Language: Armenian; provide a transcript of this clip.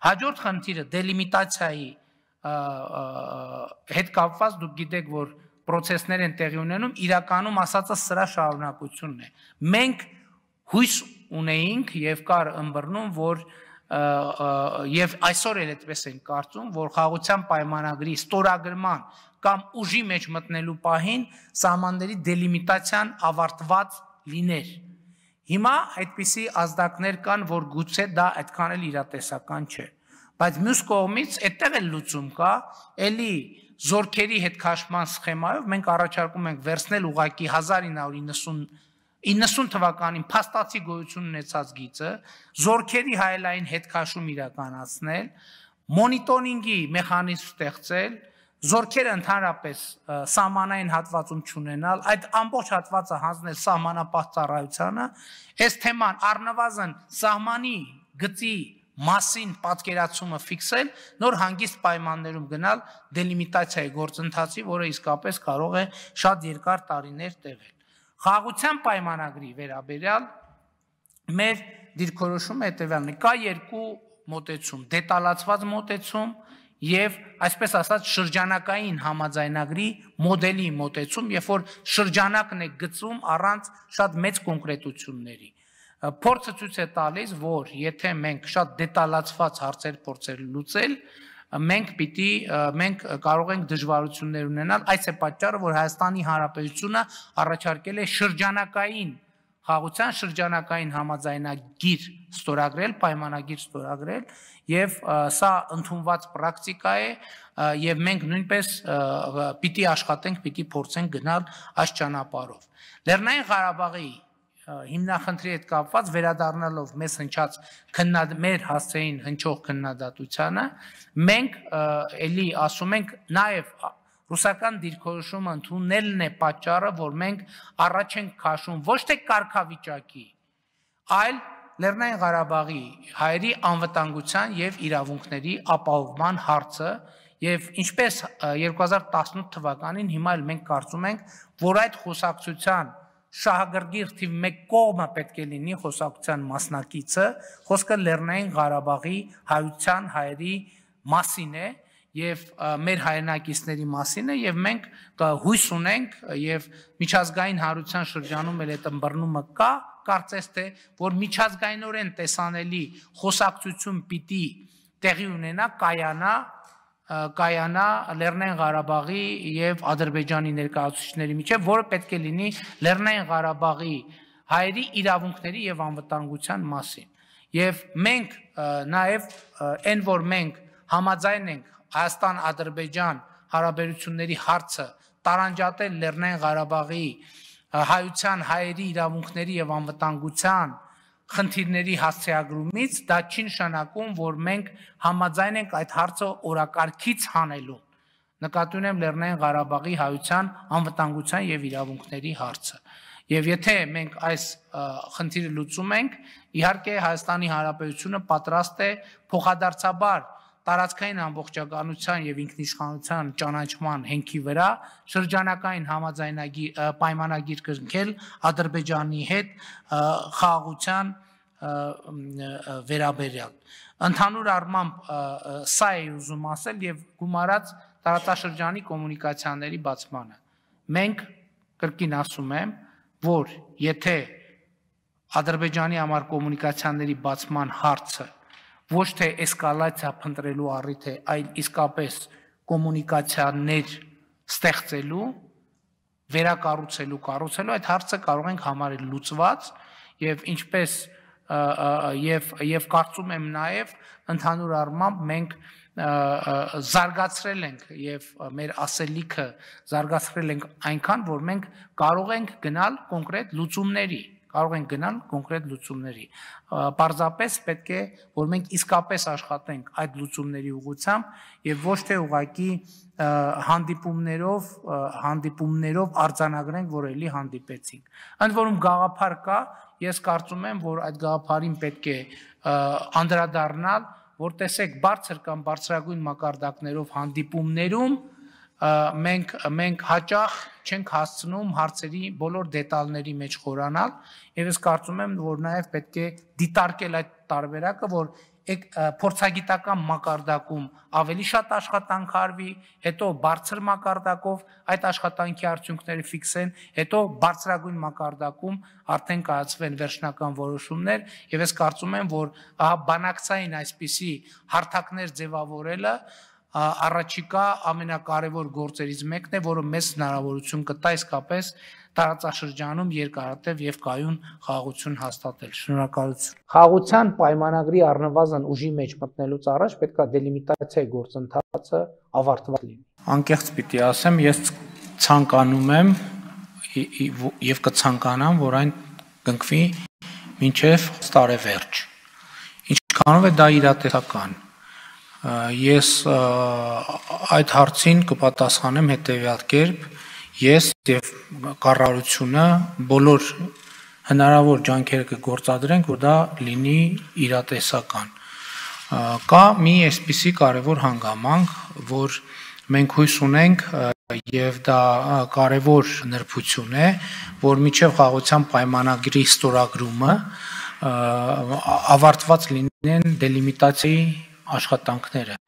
Հաջորդ խնդիրը դելիմիտացիայի հետ կապված դուք գիտեք, որ process-ներ են տեղի ունենում, իրականում ասածը սրա շարունակությունն է։ Մենք հույս ունեինք եւ կար ըմբռնում, որ եւ այսօր էլ այդպես են կարծում, որ խաղաղության պայմանագրի ստորագրման կամ ուժի մեջ մտնելու պահին սահմանների դելիմիտացիան ավարտված լիներ։ Հիմա այդպիսի ազդակներ կան, որ գուցե դա այդքան էլ իրատեսական չէ։ Բայց մյուս կողմից այդտեղ էլ լուծում կա, էլի զորքերի հետ քաշման սխեմայով մենք առաջարկում ենք վերցնել ուղղակի 1990 թվականին փաստացի գոյություն ունեցած գիծը, զորքերի հայելային հետ քաշում իրականացնել, մոնիտորինգի մեխանիզմ ստեղծել, զորքերը ընդհանրապես սահմանային հատվածում չունենալ, այդ ամբողջ հատվածը հանձնել սահմանապահ ծառայությանը, այս թեման առնվազն սահմանի գծի մասին պատկերացումը ֆիքսել, նոր հանգիստ պայմաններում գնալ դելիմիտացիայի գործընթացի, որը իսկապես կարող է շատ երկար տարիներ տևել։ Խաղաղության պայմանագրի վերաբերյալ մեր դիրքորոշումը հետևյալն է, կա երկու մոտեցում, դետալացված մոտեցում եւ այսպես ասած շրջանակային համաձայնագրի մոդելի մոտեցում, երբ որ շրջանակն է գծում առանց շատ մեծ կոնկրետությունների։ Փորձը ցույց է տալիս, որ եթե մենք շատ դետալացված հարցեր փորձել լուծել, մենք կարող ենք դժվարություններ ունենալ, այս է պատճառը, որ Հայաստանի Հանրապետությունը առաջարկել է շրջանակային խաղաղության շրջանակային համաձայնագիր ստորագրել, պայմանագիր ստորագրել, եւ սա ընդունված պրակտիկա է, եւ մենք նույնպես պիտի աշխատենք, պիտի փորձենք գնալ այս ճանապարհով։ Լեռնային Ղարաբաղի հիմնախնդրի հետ կապված վերադառնալով մեր հասցեին հնչող քննադատությանը, մենք էլի ասում ենք նաեւ ռուսական դիրքորոշումը ընդունելն է պատճառը, որ մենք առաջ ենք քաշում ոչ թե կարգավիճակի, այլ Լեռնային Ղարաբաղի հայերի անվտանգության եւ իրավունքների ապահովման հարցը եւ ինչպես 2018 թվականին հիմա էլ մենք կարծում ենք, որ այդ խոսակցության շահագրգիռ թիվ 1 կողմը պետք է լինի խոսակցության մասնակիցը, խոսքը Լեռնային Ղարաբաղի հայության հայերի մասին է եւ մեր հայրենակիցների մասին է եւ մենք հույս ունենք եւ միջազգային հանրության շրջանում էլ այդ ըմբռնումը կա, կարծես թե որ միջազգայինորեն տեսանելի խոսակցություն պիտի տեղի ունենա, կայանա Լեռնային Ղարաբաղի եւ Ադրբեջանի ներկայացուցիչների միջեւ, որը պետք է լինի Լեռնային Ղարաբաղի հայերի իրավունքների եւ անվտանգության մասին։ Եվ մենք նաեւ այն որ մենք համաձայն ենք Հայաստան-Ադրբեջան հարաբերությունների հարցը տարանջատել Լեռնային Ղարաբաղի հայության հայերի իրավունքների եւ անվտանգության խնդիրների հասցեագրումից, դա չի նշանակում, որ մենք համաձայն ենք այդ հարցը օրակարգից հանելու։ Նկատի ունեմ Լեռնային Ղարաբաղի հայության անվտանգության եւ իրավունքների հարցը։ Եվ եթե մենք այս խնդիրը լուծում ենք, իհարկե Հայաստանի Հանրապետությունը պատրաստ է փոխադարձաբար տարածքային ամբողջականության եւ ինքնիշխանության ճանաչման հենքի վրա շրջանակային համաձայնագիր պայմանագիր կնքել Ադրբեջանի հետ խաղաղության վերաբերյալ։ Ընդհանուր առմամբ սա է ուզում ասել եւ գումարած տարածաշրջանի կոմունիկացիաների բացմանը։ Մենք կրկին ասում եմ, որ եթե Ադրբեջանի համար կոմունիկացիաների բացման հարցը ոչ թե էսկալացիա փնտրելու առիթ է, այլ իսկապես կոմունիկացիաներ ստեղծելու, վերակառուցելու, կառուցելու, այդ հարցը կարող ենք համարել լուծված եւ ինչպես եւ կարծում եմ նաեւ ընդհանուր առմամբ մենք զարգացրել ենք եւ մեր ասելիքը զարգացրել ենք այնքան, որ մենք կարող ենք գնալ կոնկրետ լուծումների, Պարզապես պետք է, որ մենք իսկապես աշխատենք այդ լուծումների ուղղությամբ եւ ոչ թե ուղղակի հանդիպումներով արձանագրենք, որ էլի հանդիպեցինք։ Ընդ որում գաղափար կա, ես կարծում եմ, որ այդ գաղափարին պետք է անդրադառնալ, որ տեսեք բարձր կամ բարձրագույն մակարդակներով հանդիպումներում մենք հաճախ չենք հասցնում հարցերի բոլոր դետալների մեջ խորանալ եւ ես կարծում եմ, որ նաեւ պետք է դիտարկել այդ տարբերակը, որ փորձագիտական մակարդակում ավելի շատ աշխատանք արվի, հետո բարձր մակարդակով այդ աշխատանքի արդյունքները ֆիքսեն, հետո բարձրագույն մակարդակում արդեն կայացվեն վերջնական որոշումներ, եւ ես կարծում եմ, որ բանակցային այսպիսի հարթակներ ձևավորելը առաջիկա ամենակարևոր գործերից մեկն է, որը մեզ հնարավորություն կտա իսկապես տարածաշրջանում երկարատև եւ կայուն խաղաղություն հաստատել։ Շնորհակալություն։ Խաղաղության պայմանագրի առնվազն ուժի մեջ մտնելուց առաջ պետք է դելիմիտացիայի գործընթացը ավարտված լինի։ Անկեղծ պիտի ասեմ, ես ցանկանում եմ եւ կցանկանամ, որ այն կնքվի մինչեւ տարեվերջ։ Ինչքանով է դա իրատեսական։ Ես այդ հարցին կպատասխանեմ հետեւյալ կերպ. ես եւ կառավարությունը բոլոր հնարավոր ջանքերը կգործադրենք, որ դա լինի իրատեսական։ Կա մի այսպիսի կարևոր հանգամանք, որ մենք հույս ունենք եւ դա կարևոր նրբություն է, որ միջև խաղաղության պայմանագրի ստորագրումը ավարտված լինեն դելիմիտացիայի աշխատանքները։